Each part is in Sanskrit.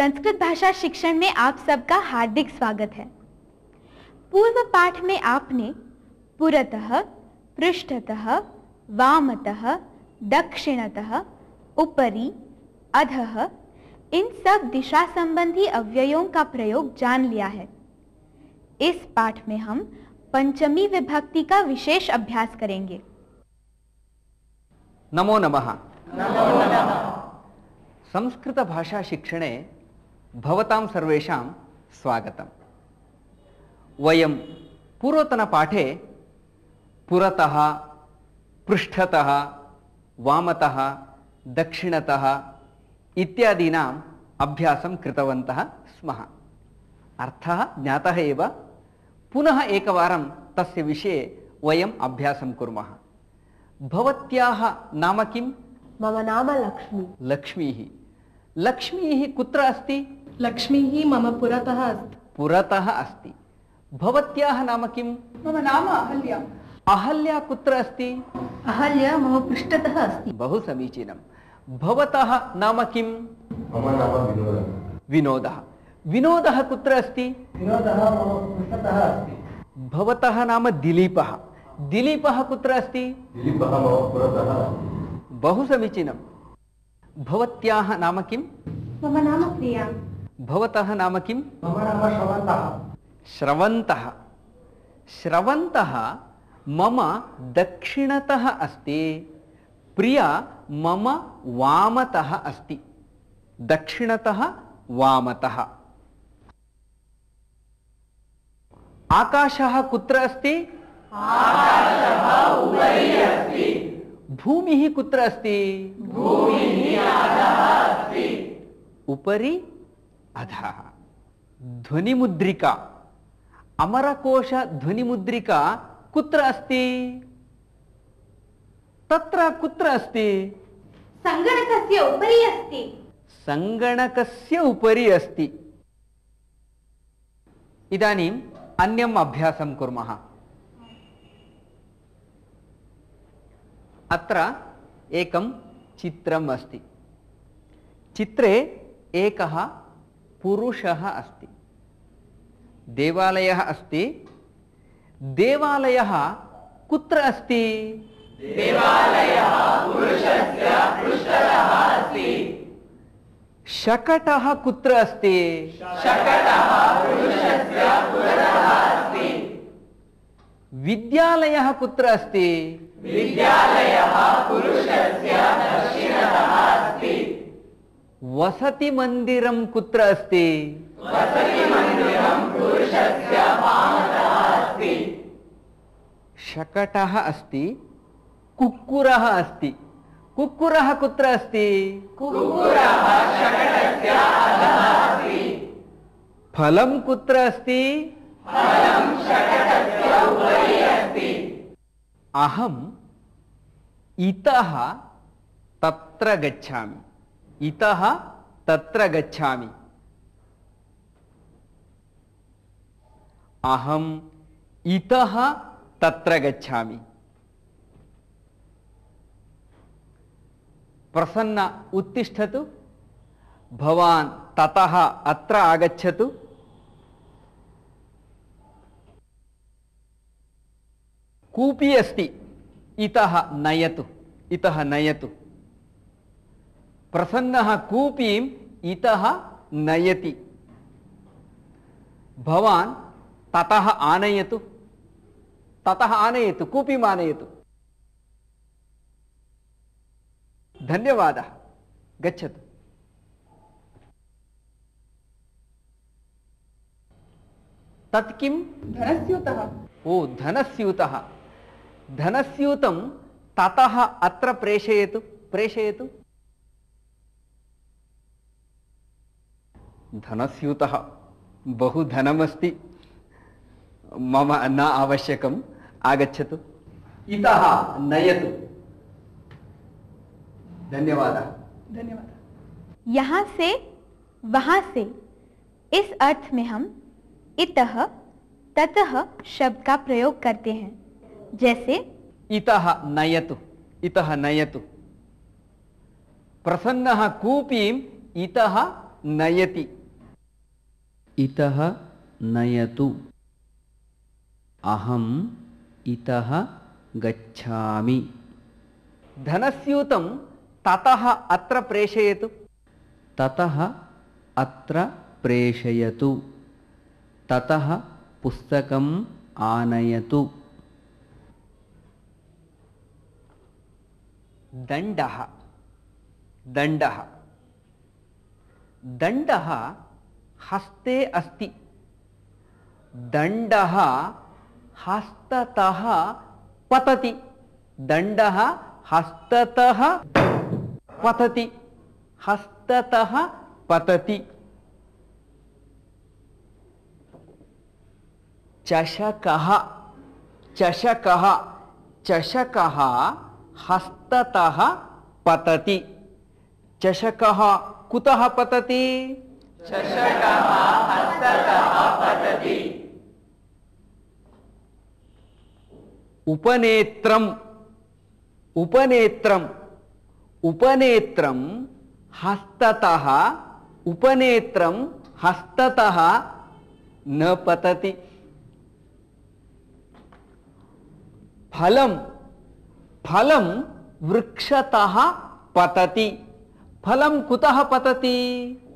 संस्कृत भाषा शिक्षण में आप सबका हार्दिक स्वागत है। पूर्व पाठ में आपने पुरतः, पृष्ठतः, वामतः, दक्षिणतः, उपरि, अधः इन सब दिशा संबंधी अव्ययों का प्रयोग जान लिया है। इस पाठ में हम पंचमी विभक्ति का विशेष अभ्यास करेंगे। नमो नमः। संस्कृत भाषा शिक्षणे भवतां सर्वेषां स्वागतम्। वयं पूर्वतनपाठे पुरतः, पृष्ठतः, वामतः, दक्षिणतः इत्यादीनाम् अभ्यासं कृतवन्तः स्मः। अर्थः ज्ञातः एव। पुनः एकवारं तस्य विषये वयम् अभ्यासं कुर्मः। भवत्याः नाम किम्? मम नाम लक्ष्मी। लक्ष्मीः। लक्ष्मीः कुत्र अस्ति? लक्ष्मीः मम पुरतः अस्ति। पुरतः अस्ति। भवत्याः नाम किम्? मम नाम अहल्या। अहल्या कुत्र अस्ति? अहल्या मम पृष्ठतः अस्ति। बहु समीचीनं। भवतः नाम किम्? मम नाम विनोदः। विनोदः। विनोदः कुत्र अस्ति? विनोदः मम पृष्ठतः अस्ति। भवतः नाम दिलीपः। दिलीपः कुत्र अस्ति? दिलीपः मम पुरतः अस्ति। बहु समीचीनं। भवत्याः नाम किम्? मम नाम प्रिया। भवतः नाम किम्? मम नाम श्रवन्तः। श्रवन्तः। श्रवन्तः मम दक्षिणतः अस्ति। प्रिया मम वामतः अस्ति। दक्षिणतः वामतः। आकाशः कुत्र अस्ति? आकाशः उपरि अस्ति। भूमिः कुत्र अस्ति? भूमिः अधः अस्ति। उपरि अधः। ध्वनिमुद्रिका, अमरकोश ध्वनिमुद्रिका कुत्र अस्ति? तत्र कुत्र अस्ति? संगणकस्य उपरि अस्ति। संगणकस्य उपरि अस्ति। इदानीम् अन्यम् अभ्यासं कुर्मः। अत्र एकं चित्रम् अस्ति। चित्रे एकः पुरुषः अस्ति। देवालयः अस्ति। देवालयः कुत्र अस्ति? देवालयः पुरुषस्य पृष्ठतः अस्ति। शकटः कुत्र अस्ति? शकटः पुरुषस्य पुरतः अस्ति। विद्यालयः कुत्र अस्ति? विद्यालयः पुरुषस्य दक्षिणतः अस्ति। वसतिमन्दिरं कुत्र अस्ति? वसतिमन्दिरं पुरुषस्य वामतः अस्ति। शकटः अस्ति। कुक्कुरः अस्ति। कुक्कुरः कुत्र अस्ति? कुक्कुरः शकटस्य अधः अस्ति। फलं कुत्र अस्ति? फलं शकटस्य उपरि अस्ति। अहम् इतः तत्र गच्छामि। इतः तत्र गच्छामि। अहम् इतः तत्र गच्छामि। प्रसन्न उत्तिष्ठतु। भवान् ततः अत्र आगच्छतु। कूपी अस्ति। इतः नयतु। इतः नयतु। प्रसन्नः कूपीम् इतः नयति। भवान् ततः आनयतु। ततः आनयतु। कूपीम् आनयतु। धन्यवादः। गच्छतु। तत् किम्? धनस्यूतः। ओ, धनस्यूतः। धनस्यूतं ततः अत्र प्रेषयतु। प्रेषयतु। धनस्यूतः। बहु धनमस्ति। मम न आवश्यकम्। आगच्छतु। इतः नयतु। धन्यवादः। धन्यवाद। यहाँ से वहाँ से इस अर्थ में हम इतः ततः शब्द का प्रयोग करते हैं। जैसे इतः नयतु। इतः नयतु। प्रसन्नः कूपीम् इतः नयति। इतः नयतु। अहम् इतः गच्छामि। धनस्यूतं ततः अत्र प्रेषयतु। ततः अत्र प्रेषयतु। ततः पुस्तकम् आनयतु। दण्डः दण्डः दण्डः हस्ते अस्ति। दण्डः हस्ततः पतति। दण्डः हस्ततः पतति। हस्ततः पतति। चषकः चषकः चषकः हस्ततः पतति। चषकः कुतः पतति? चषकः हस्ततः पतति। उपनेत्रम् उपनेत्रम् उपनेत्रं हस्ततः उपनेत्रं हस्ततः न पतति। फलं फलं वृक्षतः पतति। फलं कुतः पतति?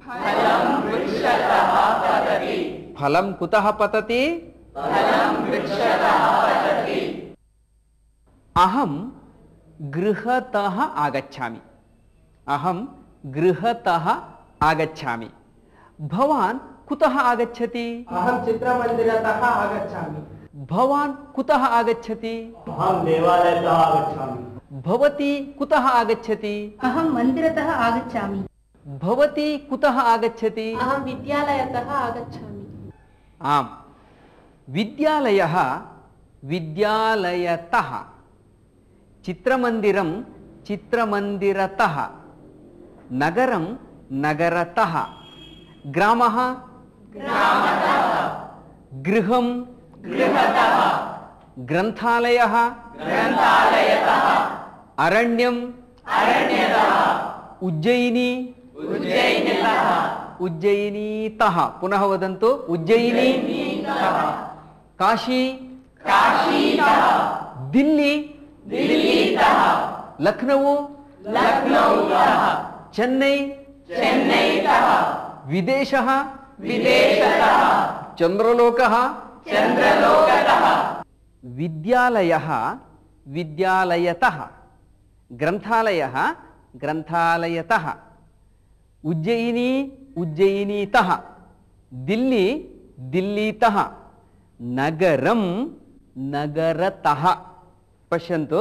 फलं वृक्षतः पतति। फलं कुतः पतति? फलं वृक्षतः पतति। अहं गृहतः आगच्छामि। अहं गृहतः आगच्छामि। भवान् कुतः आगच्छति? अहं चित्रमन्दिरतः आगच्छामि। भवान् कुतः आगच्छति? अहं देवालयतः आगच्छामि। भवती कुतः आगच्छति? अहं मन्दिरतः आगच्छामि। भवती कुतः आगच्छति? अहं विद्यालयतः आगच्छामि। आम्, विद्यालयः विद्यालयतः, चित्रमन्दिरं चित्रमन्दिरतः, नगरं नगरतः, ग्रामः ग्रामतः, गृहं गृहतः, ग्रन्थालयः ग्रन्थालयतः, अरण्यम् अरण्यतः, उज्जयिनी उज्जयिनीतः उज्जयिनीतः। पुनः वदन्तु, उज्जयिनीतः। काशी काशीतः, दिल्ली दिल्लीतः, लखनऊ लखनऊतः, चेन्नई चेन्नईतः, विदेशः विदेशतः, चंद्रलोकः चंद्रलोकतः। विद्यालयः विद्यालयतः, ग्रन्थालयः ग्रन्थालयतः, उज्जयिनी उज्जयिनीतः, दिल्ली दिल्लीतः, नगरं नगरतः। पश्यन्तु,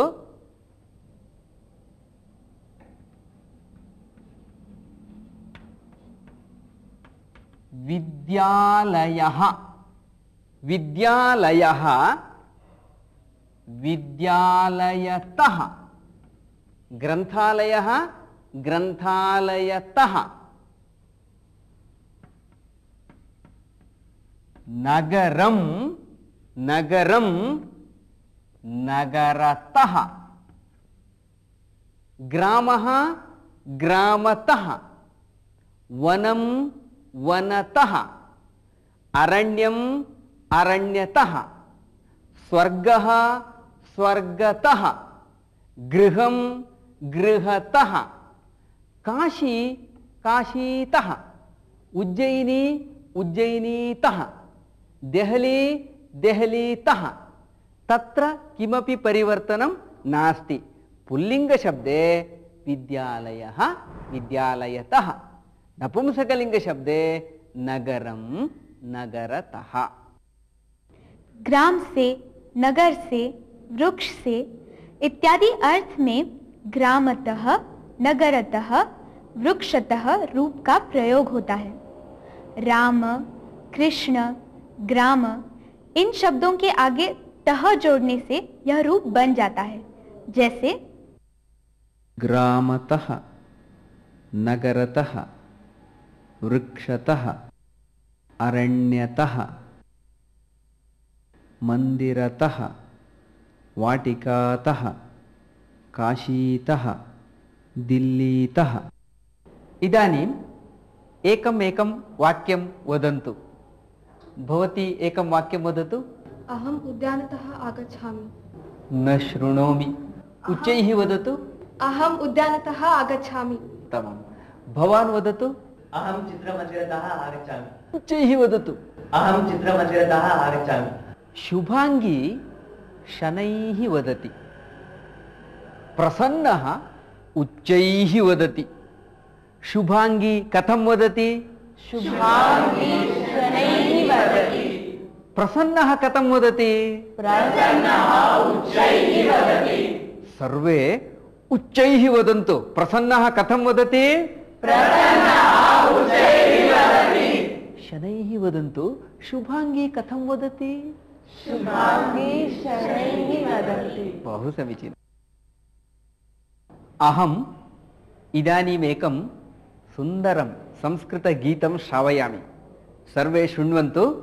विद्यालयः विद्यालयः विद्यालयतः, ग्रन्थालयः ग्रन्थालयतः, नगरं नगरं नगरतः, ग्रामः ग्रामतः, वनं वनतः, अरण्यम् अरण्यतः, स्वर्गः स्वर्गतः, गृहं गृहतः, काशी काशीतः, उज्जयिनी उज्जयिनीतः, देहली देहलीतः। तत्र किमपि परिवर्तनं नास्ति। पुल्लिङ्गशब्दे विद्यालयः विद्यालयतः, नपुंसकलिङ्गशब्दे नगरं नगरतः। ग्राम से, नगर से, वृक्ष से इत्यादि अर्थ में ग्रामतः, नगरतः, वृक्षतः रूप का प्रयोग होता है। राम, कृष्ण, ग्राम इन शब्दों के आगे तह जोड़ने से यह रूप बन जाता है। जैसे ग्रामतः, नगरतः, वृक्षतः, अरण्यतः, मंदिरतः, वाटिकातः, काशीतः, दिल्लीतः। इदानीं एकम् एकं वाक्यं वदन्तु। भवती एकं वाक्यं वदतु। अहम् उद्यानतः आगच्छामि। न शृणोमि। उच्चैः वदतु। अहम् उद्यानतः आगच्छामि। उत्तमं। भवान् वदतु। अहं चित्रमन्दिरतः आगच्छामि। उच्चैः वदतु। अहं चित्रमन्दिरतः आगच्छामि। शुभांगी शनैः वदति। प्रसन्नः उच्चैः वदति। शुभांगी कथं वदति? शुभांगी शनैः वदति। प्रसन्नः कथं वदति? प्रसन्नः उच्चैः वदति। सर्वे उच्चैः वदन्तु। प्रसन्नः कथं वदति? प्रसन्नः उच्चैः वदति। शनैः वदन्तु। शुभांगी कथं वदति? शुभांगी शनैः वदति। बहु समीचीनम्। अहम् इदानीमेकं सुन्दरं संस्कृतगीतं श्रावयामि। सर्वे शृण्वन्तु।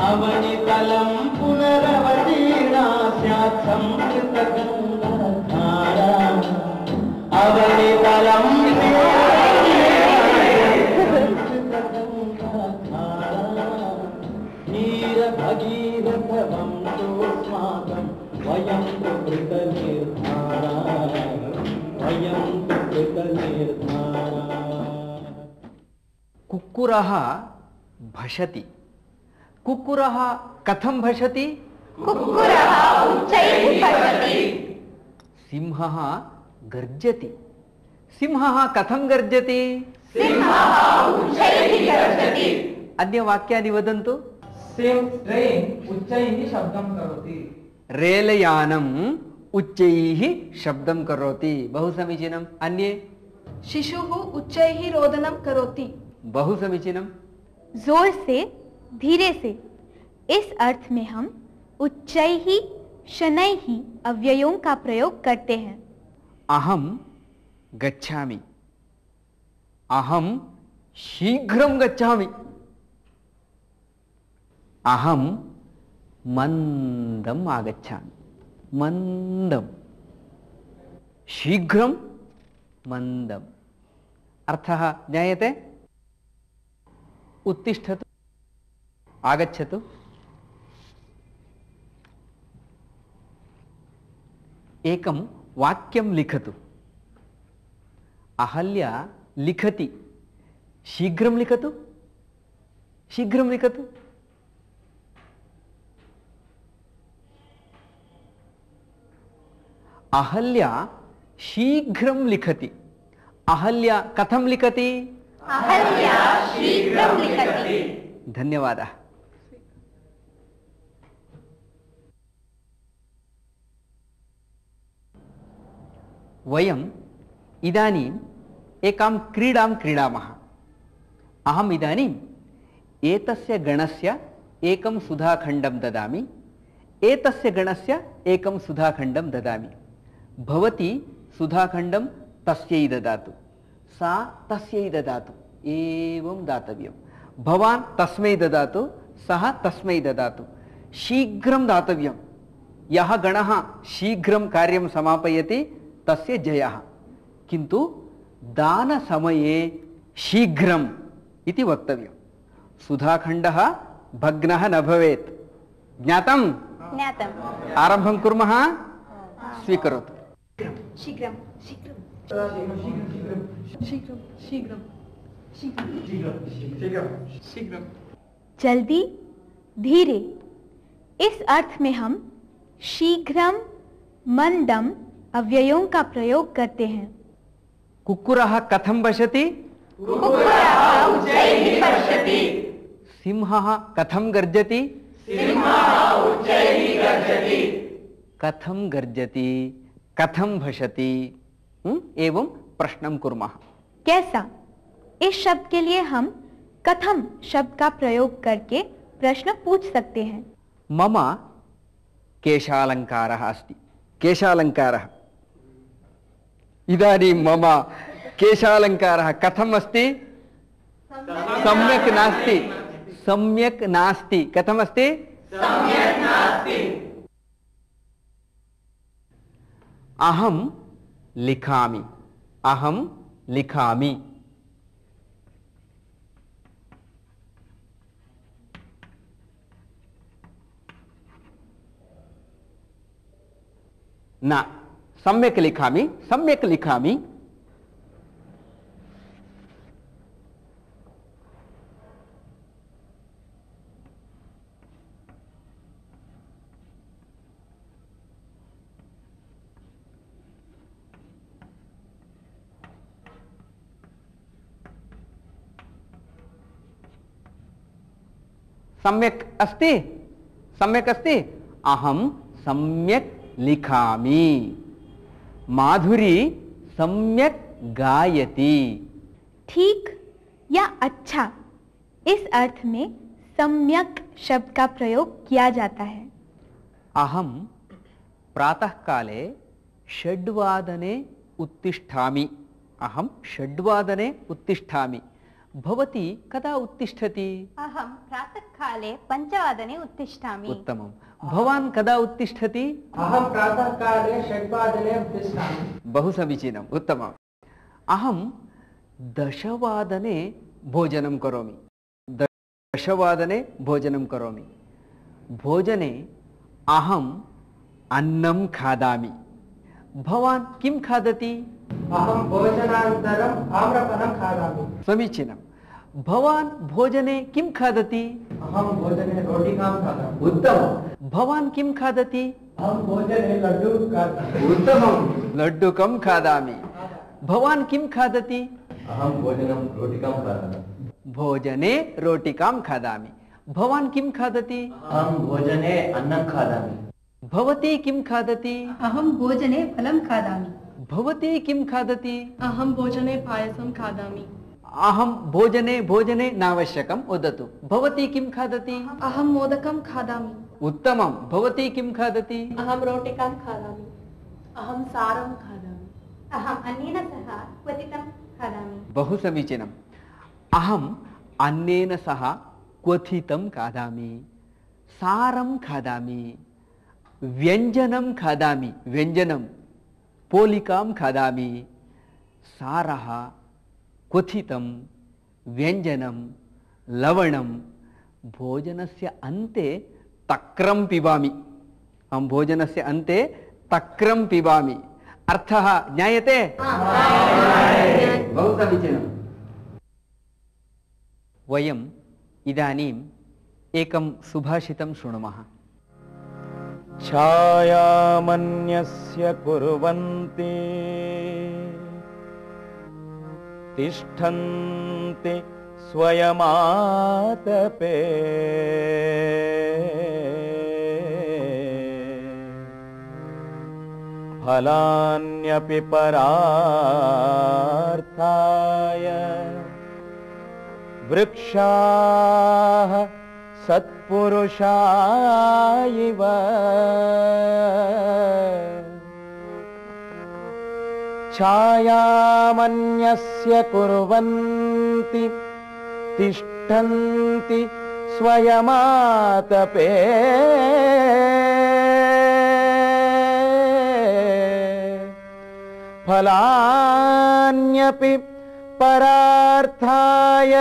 अवनितलं पुनरवतीर्णा स्यात् संस्कृतगङ्गाधारा। अवनितलं नीरभगीरथवं तोस्माकं वयं कृतनिर्धारा। वयं कृतनिर्धारा। कुक्कुरः भषति। कुक्कुरः कथं भषति? कुक्कुरः उच्चैः भषति। सिंहः गर्जति। सिंहः कथं गर्जति? सिंहः उच्चैः गर्जति। अन्य वाक्यानि वदन्तु। ट्रेन् उच्चैः शब्दं करोति। रेलयानम् उच्चैः शब्दं करोति। बहु समीचीनम्। अन्ये? शिशुः उच्चैः रोदनं करोति। बहु समीचीनम्। जोर से, धीरे से, इस अर्थ में हम उच्चैः शनैः अव्ययों का प्रयोग करते हैं। अहं गच्छामि। अहं शीघ्रं गच्छामि। अहं मन्दम् आगच्छामि। मन्दं। शीघ्रं मन्दम्। अर्थः ज्ञायते? उत्तिष्ठतु। आगच्छतु। एकं वाक्यं लिखतु। अहल्या लिखति। शीघ्रं लिखतु। शीघ्रं लिखतु। अहल्या शीघ्रं लिखति। अहल्या कथं लिखति? अहल्या शीघ्रं लिखति। धन्यवादः। वयम् इदानीम् एकां क्रीडां क्रीडामः। अहम् इदानीम् एतस्य गणस्य एकं सुधाखण्डं ददामि। एतस्य गणस्य एकं सुधाखण्डं ददामि। भवती सुधाखण्डं तस्यै ददातु। सा तस्यै ददातु। एवं दातव्यं। भवान् तस्मै ददातु। सः तस्मै ददातु। शीघ्रं दातव्यं। यः गणः शीघ्रं कार्यं समापयति तस्य जयः। किन्तु दानसमये शीघ्रम् इति वक्तव्यं। सुधाखण्डः भग्नः न भवेत्। ज्ञातम्? ज्ञातम्। आरम्भं कुर्मः। स्वीकरोतु। शीघ्रं शीघ्रं शीघ्रं शीघ्रं शीघ्रं। जल्दी, धीरे, इस अर्थ में हम शीघ्रम, मंदम अव्ययों का प्रयोग करते हैं। कुक्कुरः कथं भषति? कुक्कुरः उच्चैः भषति। सिंहः कथं गर्जति? सिंहः उच्चैः गर्जति। कथं गर्जति? कथं भषति? एवं प्रश्नं कुर्मः। कैसा? इस शब्द के लिए हम कथम शब्द का प्रयोग करके प्रश्न पूछ सकते हैं। मम केशालङ्कारः अस्ति। केशालङ्कारः। इदानीं मम केशालङ्कारः कथम् अस्ति? सम्यक् नास्ति, सम्यक् नास्ति। कथमस्ति? सम्यक् नास्ति। अहं लिखामि, अहं लिखामि। न, सम्यक् लिखामि, सम्यक् लिखामि। सम्यक् अस्ति, सम्यक् अस्ति। अहं सम्यक् लिखामि। माधुरी सम्यक् गायति। ठीक या अच्छा, इस अर्थ में सम्यक शब्द का प्रयोग किया जाता है। अहं प्रातःकाले 6 वादने उत्तिष्ठामि। अहं 6 वादने उत्तिष्ठामि। भवती कदा उत्तिष्ठति? अहं प्रातःकाले 5 उत्तिष्ठामि। उत्तमं। भवान् कदा उत्तिष्ठति? अहं प्रातःकाले 6 वादने उत्तिष्ठामि। बहु समीचीनम्, उत्तमम्। अहं 10 वादने भोजनं करोमि। 10 वादने भोजनं करोमि। भोजने अहम् अन्नं खादामि। भवान् किं खादति? अहं भोजनानन्तरम् आम्रफलं खादामि। समीचीनं। भवान् भोजने किं खादति? अहं भोजने रोटिकां खादामि। उत्तमं। भवान् किं खादति? अहं भोजने लड्डुकं खादामि। उत्तमं। लड्डुकं खादामि। भवान् किं खादति? अहं भोजनं रोटिकां खादामि। भोजने रोटिकां खादामि। भवान् किं खादति? अहं भोजने अन्नं खादामि। भवती किं खादति? अहं भोजने फलं खादामि। भवती किं खादति? अहं भोजने पायसं खादामि। अहं भोजने नावश्यकं, वदतु। भवती किं खादति? अहं मोदकं खादामि। उत्तमं। भवती किं खादति? अहं रोटिकां खादामि। अहं सारं खादामि। अहम् अन्नेन सह क्वथितं खादामि। बहु समीचीनम्। अहम् अन्नेन सह क्वथितं खादामि, सारं खादामि, व्यञ्जनं खादामि, व्यञ्जनं पोलिकां खादामि। सारः, क्वथितं, व्यञ्जनं, लवणं। भोजनस्य अन्ते तक्रं पिबामि। अहं भोजनस्य अन्ते तक्रं पिबामि। अर्थः ज्ञायते? बहु समीचीनम्। वयम् इदानीम् एकं सुभाषितं शृणुमः। छायामन्यस्य कुर्वन्ति तिष्ठन्ति स्वयमातपे फलान्यपि परार्थाय वृक्षाः सत्पुरुषा इव छायामन्यस्य कुर्वन्ति तिष्ठन्ति स्वयमातपे फलान्यपि परार्थाय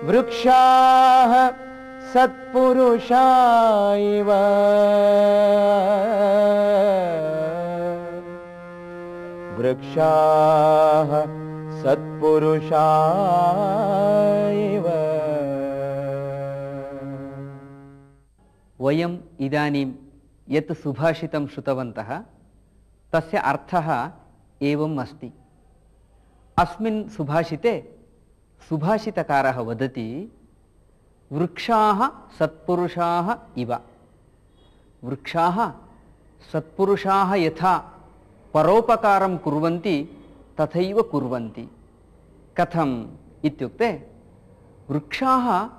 वृक्षाः सत्पुरुषा इव वृक्षाः सत्पुरुषा इव। वयम् इदानीं यत् सुभाषितं श्रुतवन्तः तस्य अर्थः एवम् अस्ति। अस्मिन् सुभाषिते सुभाषितकारः वदति वृक्षाः सत्पुरुषाः इव। वृक्षाः सत्पुरुषाः यथा परोपकारं कुर्वन्ति तथैव कुर्वन्ति। कथम् इत्युक्ते वृक्षाः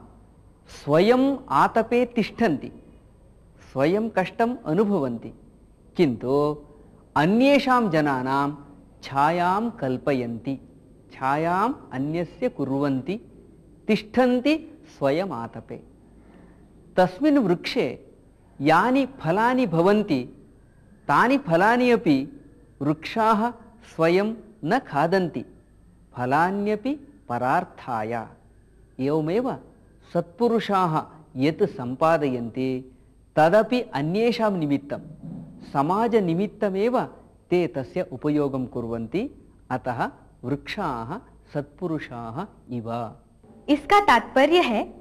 स्वयं आतपे तिष्ठन्ति, स्वयं कष्टम् अनुभवन्ति, किन्तु अन्येषां जनानां छायां कल्पयन्ति, छायाम् अन्यस्य कुर्वन्ति, तिष्ठन्ति स्वयम् आतपे। तस्मिन् वृक्षे यानि फलानि भवन्ति तानि फलानि अपि वृक्षाः स्वयं न खादन्ति, फलान्यपि परार्थाय। एवमेव सत्पुरुषाः यत् सम्पादयन्ति तदपि अन्येषां निमित्तं, समाजनिमित्तमेव ते तस्य उपयोगं कुर्वन्ति। अतः वृक्षाः सत्पुरुषाः इव। इसका तात्पर्य है,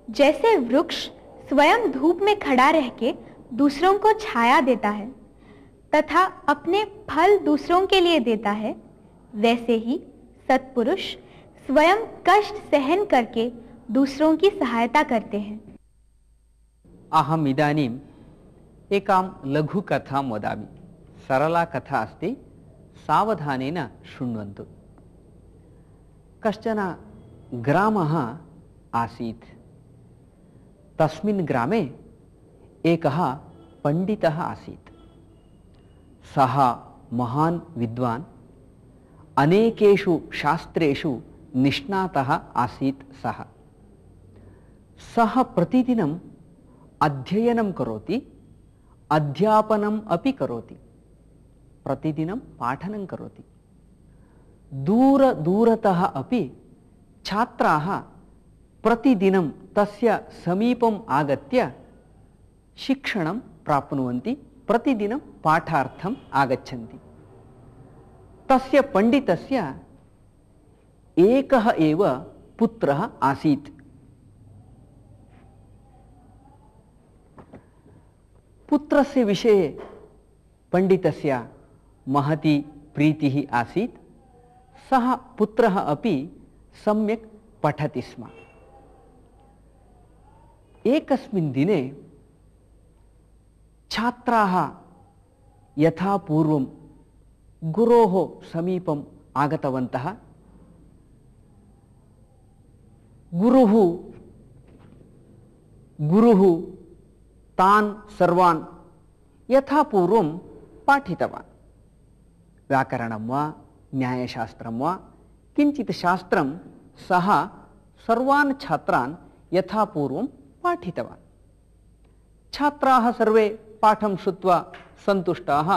जैसे वृक्ष स्वयं धूप में खड़ा रह के दूसरों को छाया देता है तथा अपने फल दूसरों के लिए देता है, वैसे ही सत्पुरुष स्वयं कष्ट सहन करके दूसरों की सहायता करते हैं। अहम् इदानीम् एकां लघुकथां वदामि। सरला कथा अस्ति, सावधानेन शृण्वन्तु। कश्चन ग्रामः आसीत्। तस्मिन् ग्रामे एकः पण्डितः आसीत्। सः महान् विद्वान्, अनेकेषु शास्त्रेषु निष्णातः आसीत्। सः प्रतिदिनम् अध्ययनं करोति, अध्यापनम् अपि करोति, प्रतिदिनं पाठनं करोति। दूरतः अपि छात्राः प्रतिदिनं तस्य समीपम् आगत्य शिक्षणं प्राप्नुवन्ति, प्रतिदिनं पाठार्थम् आगच्छन्ति। तस्य पण्डितस्य एकः एव पुत्रः आसीत्। पुत्रस्य विषये पण्डितस्य महती प्रीतिः आसीत्। सः पुत्रः अपि सम्यक् पठति स्म। एकस्मिन् दिने छात्राः यथा पूर्वं गुरोः समीपम् आगतवन्तः। गुरुः तान् सर्वान् यथा पूर्वं पाठितवान्। व्याकरणं वा न्यायशास्त्रं वा किञ्चित् शास्त्रं सः सर्वान् छात्रान् यथा पूर्वं पाठितवान्। छात्राः सर्वे पाठं श्रुत्वा सन्तुष्टाः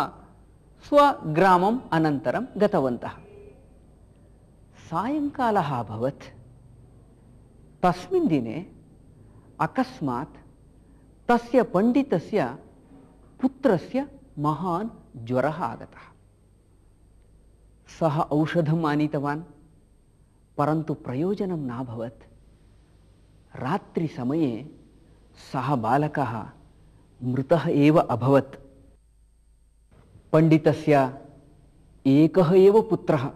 स्वग्रामम् अनन्तरं गतवन्तः। सायङ्कालः अभवत्। तस्मिन् दिने अकस्मात् तस्य पण्डितस्य पुत्रस्य महान् ज्वरः आगतः। सः औषधम् आनीतवान्, परन्तु प्रयोजनं नाभवत्। रात्रिसमये सः बालकः मृतः एव अभवत्। पण्डितस्य एकः एव पुत्रः,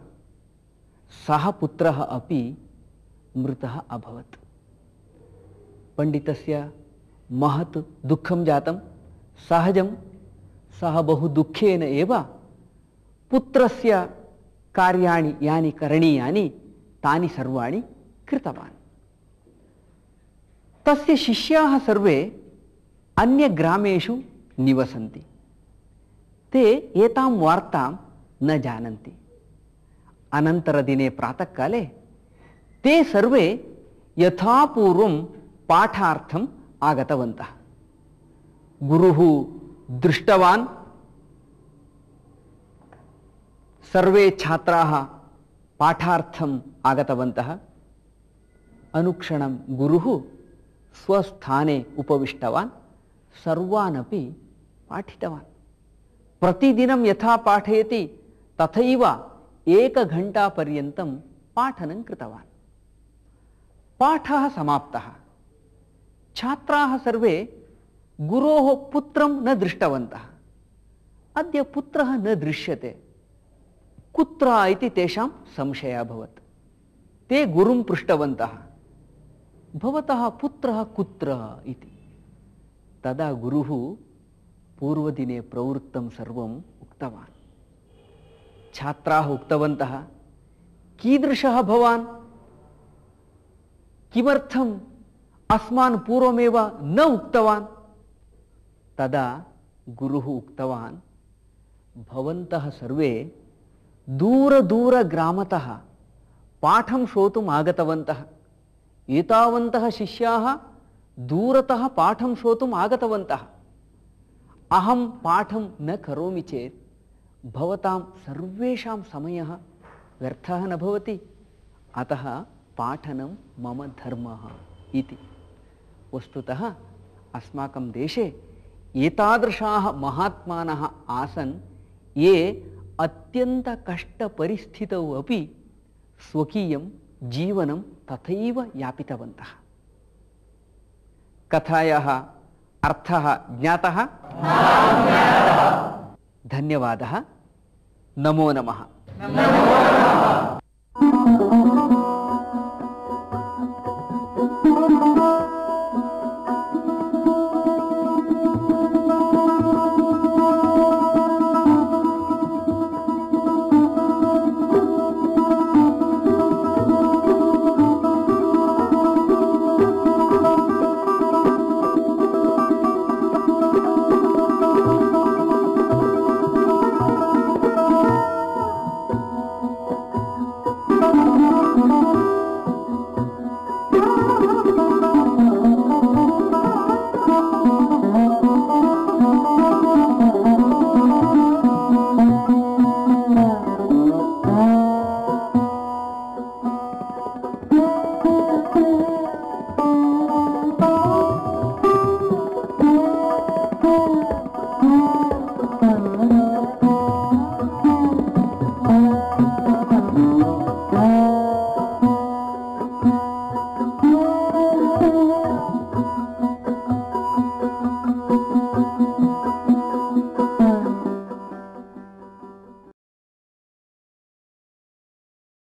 सः पुत्रः अपि मृतः अभवत्। पण्डितस्य महत् दुःखं जातं। सहजं सः बहु दुःखेन एव पुत्रस्य कार्याणि यानि करणीयानि तानि सर्वाणि कृतवान्। तस्य शिष्याः सर्वे अन्यग्रामेषु निवसन्ति। ते एतां वार्तां न जानन्ति। अनन्तरदिने प्रातःकाले ते सर्वे यथापूर्वं पाठार्थम् आगतवन्तः। गुरुः दृष्टवान्। सर्वे छात्राः पाठार्थम् आगतवन्तः। अनुक्षणं गुरुः स्वस्थाने उपविष्टवान्, सर्वानपि पाठितवान्। प्रतिदिनं यथा पाठयति तथैव एकघण्टापर्यन्तं पाठनं कृतवान्। पाठः समाप्तः। छात्राः सर्वे गुरोः पुत्रं न दृष्टवन्तः। अद्य पुत्रः न दृश्यते, कुत्र इति तेषां संशयः अभवत्। ते गुरुं पृष्टवन्तः, भवतः पुत्रः कुत्र इति। तदा गुरुः पूर्वदिने प्रवृत्तं सर्वम् उक्तवान्। छात्राः उक्तवन्तः, कीदृशः भवान्, किमर्थम् अस्मान् पूर्वमेव न उक्तवान्? तदा गुरुः उक्तवान्, भवन्तः सर्वे दूरदूरग्रामतः पाठं श्रोतुम् आगतवन्तः। एतावन्तः शिष्याः दूरतः पाठं श्रोतुम् आगतवन्तः। अहं पाठं न करोमि चेत् भवतां सर्वेषां समयः व्यर्थः न भवति। अतः पाठनं मम धर्मः इति। वस्तुतः अस्माकं देशे एतादृशाः महात्मानः आसन् ये अत्यन्तकष्टपरिस्थितौ अपि स्वकीयं जीवनं तथैव यापितवन्तः। कथायाः अर्थः ज्ञातः? धन्यवादः। नमो नमः।